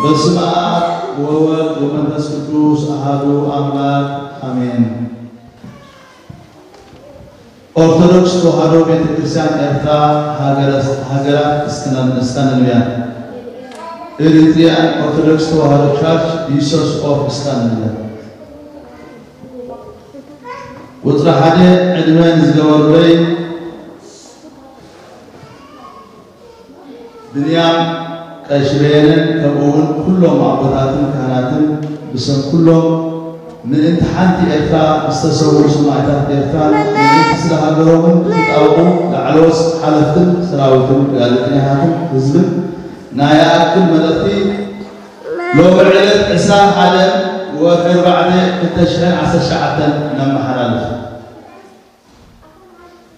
በስመ አብ ወወልድ ወመንፈስ ቅዱስ አሐዱ አምላክ አሜን። ኦርቶዶክስ ተዋህዶ ቤተ ክርስቲያን ኤርትራ ሃገረ-፣ ሃገራት እስካንዲናቪያ፣ Eritrean Orthodox Tewahedo Church, Diocese of Scandinavia። ቁጽሪ ሓደ ዕድመ ንዝገበሩለይ ብንያም ቀሺ በየነን ከምኡ እውን ኩሎም ኣቦታትን ካህናትን ብስም ኩሎም ምእንቲ ሓንቲ ኤርትራ ዝተሰውኡ ሰማእታት ኤርትራን ምእንቲ ስለ ሃገሮምን ክጣበቑ ላዕለዎት ሓለፍትን ሰራዊትን ጋዜጠኛታትን ህዝብን ናይ ይኣክል መልእኽቲ ሎሚ ዕለት ዕስራን ሓደን ወርሒ ኣርባዕተ ክልተ ሽሕን ዓሰርተ ትሽዓተን ነመሓላልፍ።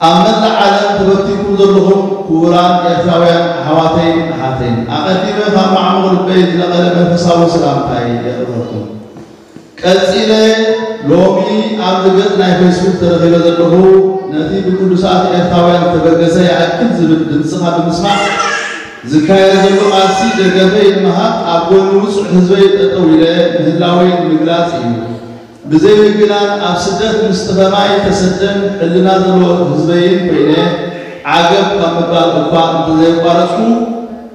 ኣብ መላእ ዓለም ተበቲንኩም ዘለኹም ክቡራን ኤርትራውያን ኣሕዋተይን ኣሓተይን፣ ኣቐዲመ ካብ ማዕሙቕ ልበይ ዝነቐለ መንፈሳዊ ሰላምታይ የቕርበልኩም። ቀጺለ ሎሚ ኣብዚ ገጽ ናይ ፌስቡክ ተረኺበ ዘለኹ ነቲ ብቅዱሳት ኤርትራውያን ዝተበገሰ ይኣክል ዝብል ድምጽኻ ብምስማዕ ዝካየድ ዘሎ ቃልሲ ደገፈይ ንምሃብ ኣብ ጎኒ ውጹዕ ህዝበይ ጠጠው ኢለ ምህላወይ ንምግላጽ እዩ። ብዘይ ምግናን ኣብ ስደት ምስቲ ከማይ ተሰደን ሕልና ዘለዎ ህዝበይን ኮይነ ዓገብ ካብ ምባል እኳ እንተዘየቋረጽኩ፣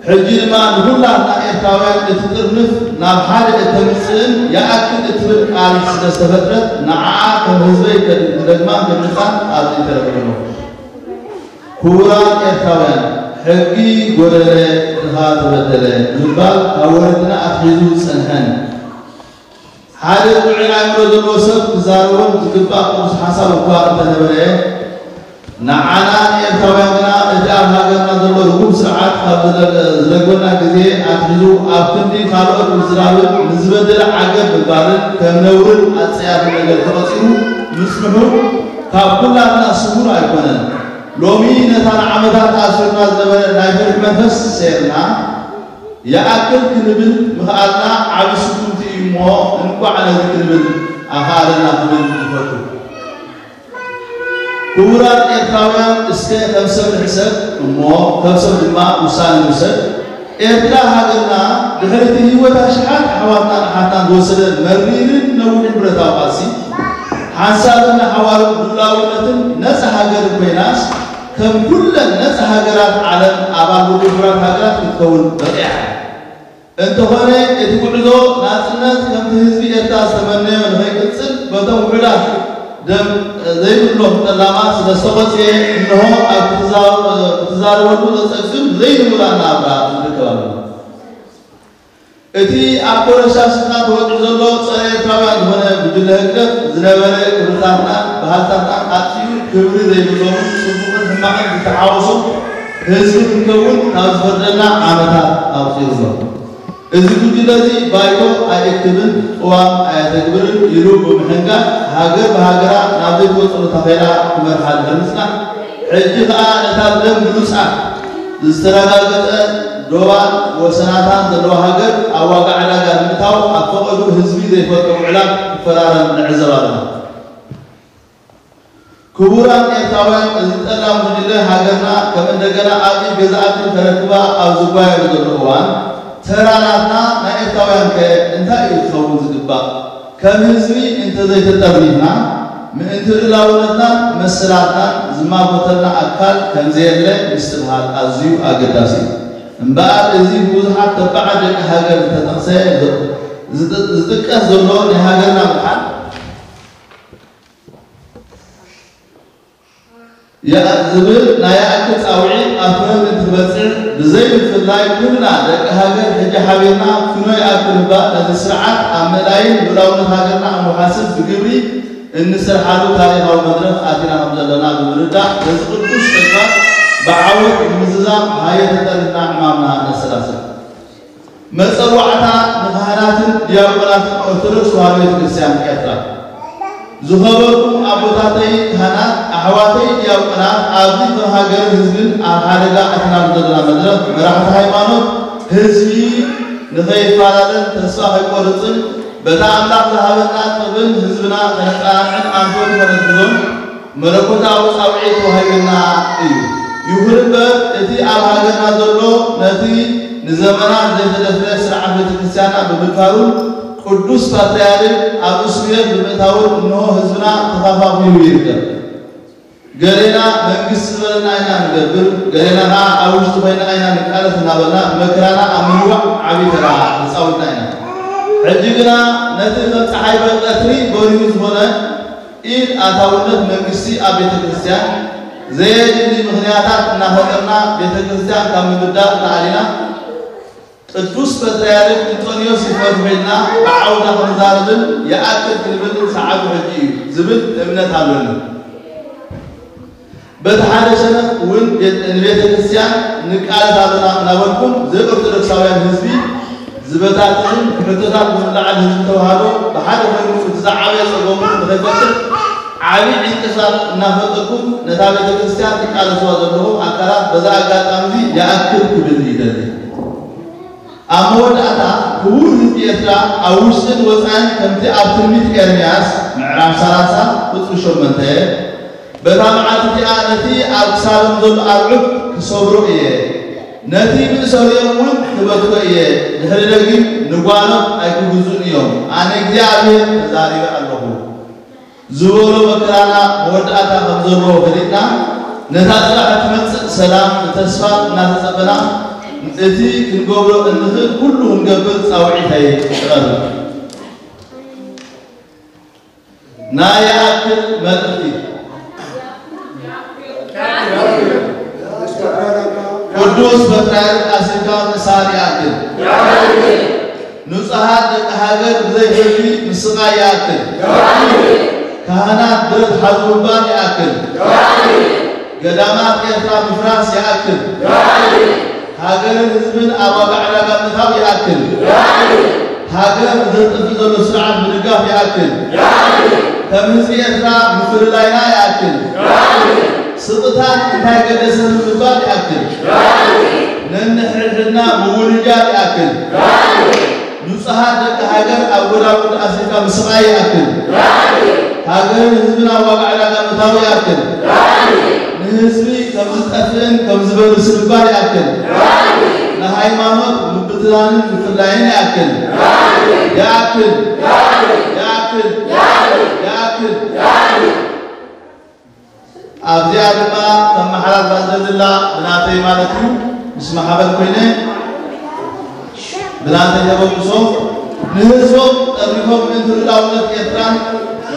ሕጂ ድማ ንኹላትና ኤርትራውያን እቲ ጥርንፍ ናብ ሓደ እተምጽእን ይኣክል እትብል ቃል ስለ ዝተፈጥረት፣ ንዓኣ ከም ህዝበይ ከድ-፣ ክደግማን ከድምጻን ኣብዚ ተረኺበ ኣለኹ። ክቡራት ኤርትራውያን፣ ሕጊ ጎደለ፣ ድኻ ተበደለ ምባል ካብ ወለድና ኣትሒዙ ዝጸንሐን፣ ሓደ ጥዑይ ኣእምሮ ዘለዎ ሰብ ክዛረቦን ዝግባእ ቅዱስ ሓሳብ እኳ እንተነበረ፣ ንዓና ንኤርትራውያን ግና እቲ ኣብ ሃገርና ዘሎ ርጉም ስርዓት ካብ ዝለ-፣ ዝለግበና ግዜ ኣትሒዙ ኣብ ክንዲ ካልኦት ምዝራብን ንዝበደለ ዓገብ ምባልን ከም ነውርን ኣጸያፍን ነገር ተቐጺሩ ምጽንሑ ካብ ኩላትና ስሙር ኣይኮነን። ሎሚ ነታ ንዓመታት ኣሲሩና ዝነበረ ናይ ፍርሒ መንፈስ ሰይርና፣ ይኣክል ክንብል ምኽኣልና ዓቢ ስጉምቲ እዩ እሞ፣ እንቋዕ ነዚ ክንብል ኣኽኣለና ክብል ይፈቱ። ክቡራት ኤርትራውያን፣ እስከ ከም ሰብ ንሕሰብ እሞ፣ ከም ሰብ ድማ ውሳነ ንውሰድ። ኤርትራ ሃገርና፣ ድሕሪ እቲ ህይወት ኣሽሓት ኣሕዋትናን ኣሓትናን ዝወሰደ መሪርን ነዊሕን ብረታዊ ቃልሲ፣ ሓንሳብን ንሓዋሩን ልኡላውነትን ነጻ ሃገርን ኮይናስ፣ ከም ኩለን ነጻ ሃገራት ዓለም ኣባል ውድብ ሕቡራት ሃገራት ክትከውን በቒዓ። እንተኾነ፣ እቲ ጉዕዞ ናጽነት ከምቲ ህዝቢ ኤርትራ ዝተመነዮ ንኸይቅጽል፣ በቶም ውሑዳት ደም ዘይብሎም ጠላማት ስለ ዝተቖጽየ፣ እንሆ ኣብ ክትዛረ-፣ ክትዛረበሉ ዘጸግም ዘይንቡር ኣናብራ ንርከብ ኣለና። እቲ ኣብ ኮረሻ ስፍራ ተወጢሑ ዘሎ ጸረ ኤርትራውያን ዝኾነ ጉጅለ ህግደፍ ዝነበረ ክብርታትናን ባህልታትናን ኣጥፊኡ፣ ክብሪ ዘይብሎምን ጽቡቕን ሕማቕን ዝተሓወሶ ህዝቢ ክንከውን ካብ ዝፈርደና ዓመታት ኣቑጺሩ ኣሎ። እዚ ጉጅለ እዚ ባይቶ ኣይእክብን፣ ቅዋም ኣየተግብርን ኢሉ ብምሕንጋድ፣ ሃገር ብሃገራ ናብ ዘይትወጽሉ ታኼላ ክመርሓ ድሕሪ ምጽናሕ፣ ሕጂ ከኣ ነታ ብደም ብሉጻት ዝተረጋገጸ ዶባን ወሰናታን ዘለዋ ሃገር ኣብ ዋጋ ዕዳጋ ንምእታው ኣብ ፈቐድኡ ህዝቢ ዘይፈልጦ ውዕላት ክፈራረም ንዕዘብ ኣለና። ክቡራት ኤርትራውያን፣ እዚ ጠላም ጉጅለ ሃገርና ከም እንደገና ኣብ ኢድ ገዛእቲ ከረክባ ኣብ ዝጓየሉ ዘሎ እዋን፣ ተራ ናትና ናይ ኤርትራውያን ከ እንታይ እዩ ክኸውን ዝግባእ? ከም ህዝቢ እንተዘይተጠርኒፍና፣ ምእንቲ ልኡላውነትናን መሰላትናን ዝማጎተልና ኣካል ከምዘየለ ምስትብሃል ኣዝዩ ኣገዳሲ እዩ። እምበኣር፣ እዚ ብብዙሓት ተባዓት ደቂ ሃገር ዝተጠቕሰ፣ ዝጥ-፣ ዝጥቀስ ዘሎ ናይ ሃገርና ምድሓን፣ ያ-፣ ዝብል ናይ ይኣክል ጻውዒት ኣብ ፍረ ምእንቲ ክበጽሕ፣ ብዘይ ምፍልላይ ኩልና ደቂ ሃገር ሕጂ ሓቢርና ፍኖ ይኣክል እባ ነዚ ስርዓት ኣብ ምእላይን ልኡላውነት ሃገርና ኣብ ምውሓስን ብግብሪ እንሰርሓሉ ታሪኻዊ መድረኽ ኣቲና ከም ዘለና ብምርዳእ፣ ነዚ ቅዱስ ተግባር ብዓወት ንምዝዛም ሃየ ተጠርኒፍና ዕማምና ነሰላስል። መጸዋዕታ ንካህናትን ዲያቆናትን ኦርቶዶክስ ተዋህዶ ቤተ ክርስቲያን ኤርትራ። ዝኸበርኩም ኣቦታተይ ካህናት፣ ኣሕዋተይ ዲያቆናት፣ ኣብዚ ከም ሃገርን ህዝብን ኣብ ሓደጋ ኣቲናሉ ዘለና መድረኽ፣ መራሕቲ ሃይማኖት፣ ህዝቢ ንኸይፈላለን ተስፋ ከይቆርጽን፣ በታ ኣምላኽ ዝሃበና ጥበብን ህዝብና ከነጸናንዕን ኣንፈቱ ከነትሕዞን መለኮታዊ ጻውዒት ተዋሂቡና እዩ። ይኹን እምበር፣ እቲ ኣብ ሃገርና ዘሎ ነቲ ንዘመናት ዘይተደፍረ ስርዓት ቤተ ክርስቲያን ክርስቲያና ብምድፋሩን ቅዱስ ፓትርያርክ ኣብ እስር ቤት ብምእታውን እንሆ ህዝብና ተኸፋፊሉ ይርከብ። ገሌና መንግስቲ ዝበለና ኢና ንገብር፣ ገሌና ከዓ ኣብ ውሽጢ ኮይና ኢና ንቃለስ እናበልና መከራና ኣብ ምንዋዕ ዓብዪ ተራ ተፃዊትና ኢና። ሕጂ ግና ነቲ ከም ፀሓይ በቀትሪ በሪሁ ዝኾነ ኢድ ኣታውነት መንግስቲ ኣብ ቤተ ክርስቲያን ዘየድሊ ምኽንያታት እናፈጠርና ቤተ ክርስቲያን ካብ ምብዳል ተኣሊና ቅዱስ ፓትርያርክ እንጦንዮስ ይፈትሑ ኢልና ብዓውታ ክንዛረብን ይኣክል ክንብል ሰዓቱ ሕጂ እዩ ዝብል እምነት ኣሎኒ። በቲ ሓደ ሸነኽ እውን ቤት- ንቤተ ክርስቲያን ንቃለስ ኣለና እናበልኩም ዘይኦርቶዶክሳውያን ህዝቢ ዝበታትንን ሕቶታት ብምልዓል ህዝቢ ተዋህዶ ብሓደ ኮይኑ እቲ ዝዓበየ ጸገሙ ንኸይፈትሕ ዓብዪ ዕንቅፋት እናፈጠርኩም ነታ ቤተ ክርስቲያን ትቃለስዋ ዘለኹም ኣካላት በዛ ኣጋጣሚ እዚ ይኣክል ክብል ይደሊ። ኣብ መወዳእታ ክቡር ህዝቢ ኤርትራ ኣብ ውሽጥን ወጻኢን ከምቲ ኣብ ትንቢት ኤርምያስ ምዕራፍ ሰላሳ ቁጽሪ ሸሞንተ በታ መዓልቲ እቲኣ ነቲ ኣብ ክሳዶም ዘሎ ኣርዑት ክሰብሮ እየ፣ ነቲ ምእሰሪኦም እውን ክበትኮ እየ፣ ድሕሪ ደጊም ንጓኖት ኣይክግዝኡን እዮም፣ ኣነ እግዚኣብሔር ተዛሪበ ኣለኹ። ዝበሎ መከራና መወዳእታ ከም ዘለዎ ፈሊጥና ነታ ጽባሕ እትመጽእ ሰላም ብተስፋ እናተጸበና እቲ ክንገብሮ እንኽእል ኩሉ ክንገብር ጻውዒተይ እቐርብ። ናይ ይኣክል መልእኽቲ ቅዱስ ፓትርያርክ ኣሲርካ ምእሳር ይኣክል። ንጹሃት ደቂ ሃገር ብዘይ ፍርዲ ምስቓይ ይኣክል። ካህናት ብረት ሓዙ ምባል ይኣክል። ገዳማት ኤርትራ ምፍራስ ይኣክል። ሃገርን ህዝብን ኣብ ዋጋ ዕዳጋ ምእታው ይኣክል። ሃገር ዘጥፍእ ዘሎ ስርዓት ምድጋፍ ይኣክል። ከም ህዝቢ ኤርትራ ምፍልላይና ይኣክል። ስቕታን እንታይ ገደሰኒ ምባል ይኣክል። ነንሕድሕድና ምውንጃል ይኣክል። ንጹሃት ደቂ ሃገር ኣብ ጎዳጉዲ ኣፍሪካ ምስቓይ ይኣክል። ሃገርን ህዝብን ኣብ ዋጋ ዕዳጋ ምእታው ይኣክል። ንህዝቢ ከም ዝጠፍእን ከም ዝበርስን ምግባር ይኣክል። ንሃይማኖት ምብትታንን ምፍላይን ይኣክል። ይኣክል። ይኣክል። ይኣክል። ኣብዚኣ ድማ ከመሓላልፋ ዝደሊ ዘላ ብናተይ ማለት እዩ፣ ምስ ማሕበር ኮይነ ብናተይ ተበግሶ ንህዝቦም ጠርኒፎም ምእንቲ ልኡላውነት ኤርትራን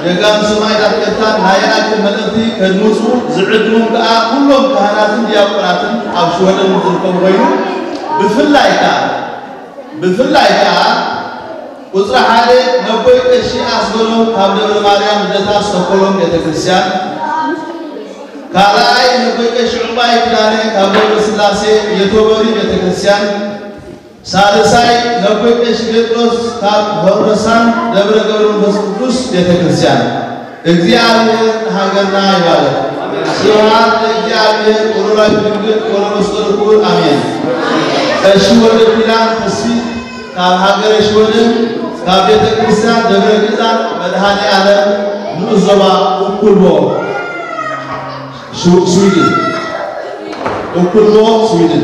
ጀጋኑ ሰማእታት ኤርትራን ናይ ይኣክል መልእኽቲ ከድምጹ ዝዕድሞም ከኣ ኩሎም ካህናትን ዲያቆናትን ኣብ ሽወደን ዝርከቡ ኮይኑ ብፍላይ ከኣ ብፍላይ ከኣ ቁጽሪ ሓደ ነቦይ ቀሺ ኣስገዶም ካብ ደብረ ማርያም ልደታ ስቶኮሎም ቤተክርስትያን፣ ካልኣይ ነቦይ ቀሺ ዑባይ ኪዳነ ካብ ደብረ ስላሴ የቶበሪ ቤተክርስትያን፣ ሳልሳይ ነቦይ ቀሺ ጴጥሮስ ካብ ሆርበሳን ደብረ ገብረ መንፈስ ቅዱስ ቤተክርስትያን። እግዚኣብሔር ንሃገርና ይባርክ። ስብሐት ለእግዚኣብሔር ወለወላዲቱ ድንግል ወለመስቀሉ ክቡር ኣሜን። ቀሺ ወልደ ኪዳን ተስፊት ካብ ሃገረ ሽወደን ካብ ቤተ ክርስቲያን ደብረ ግዛን መድኃኔ ዓለም ንኡስ ዞባ እኩልቦ ስዊድን እኩልቦ ስዊድን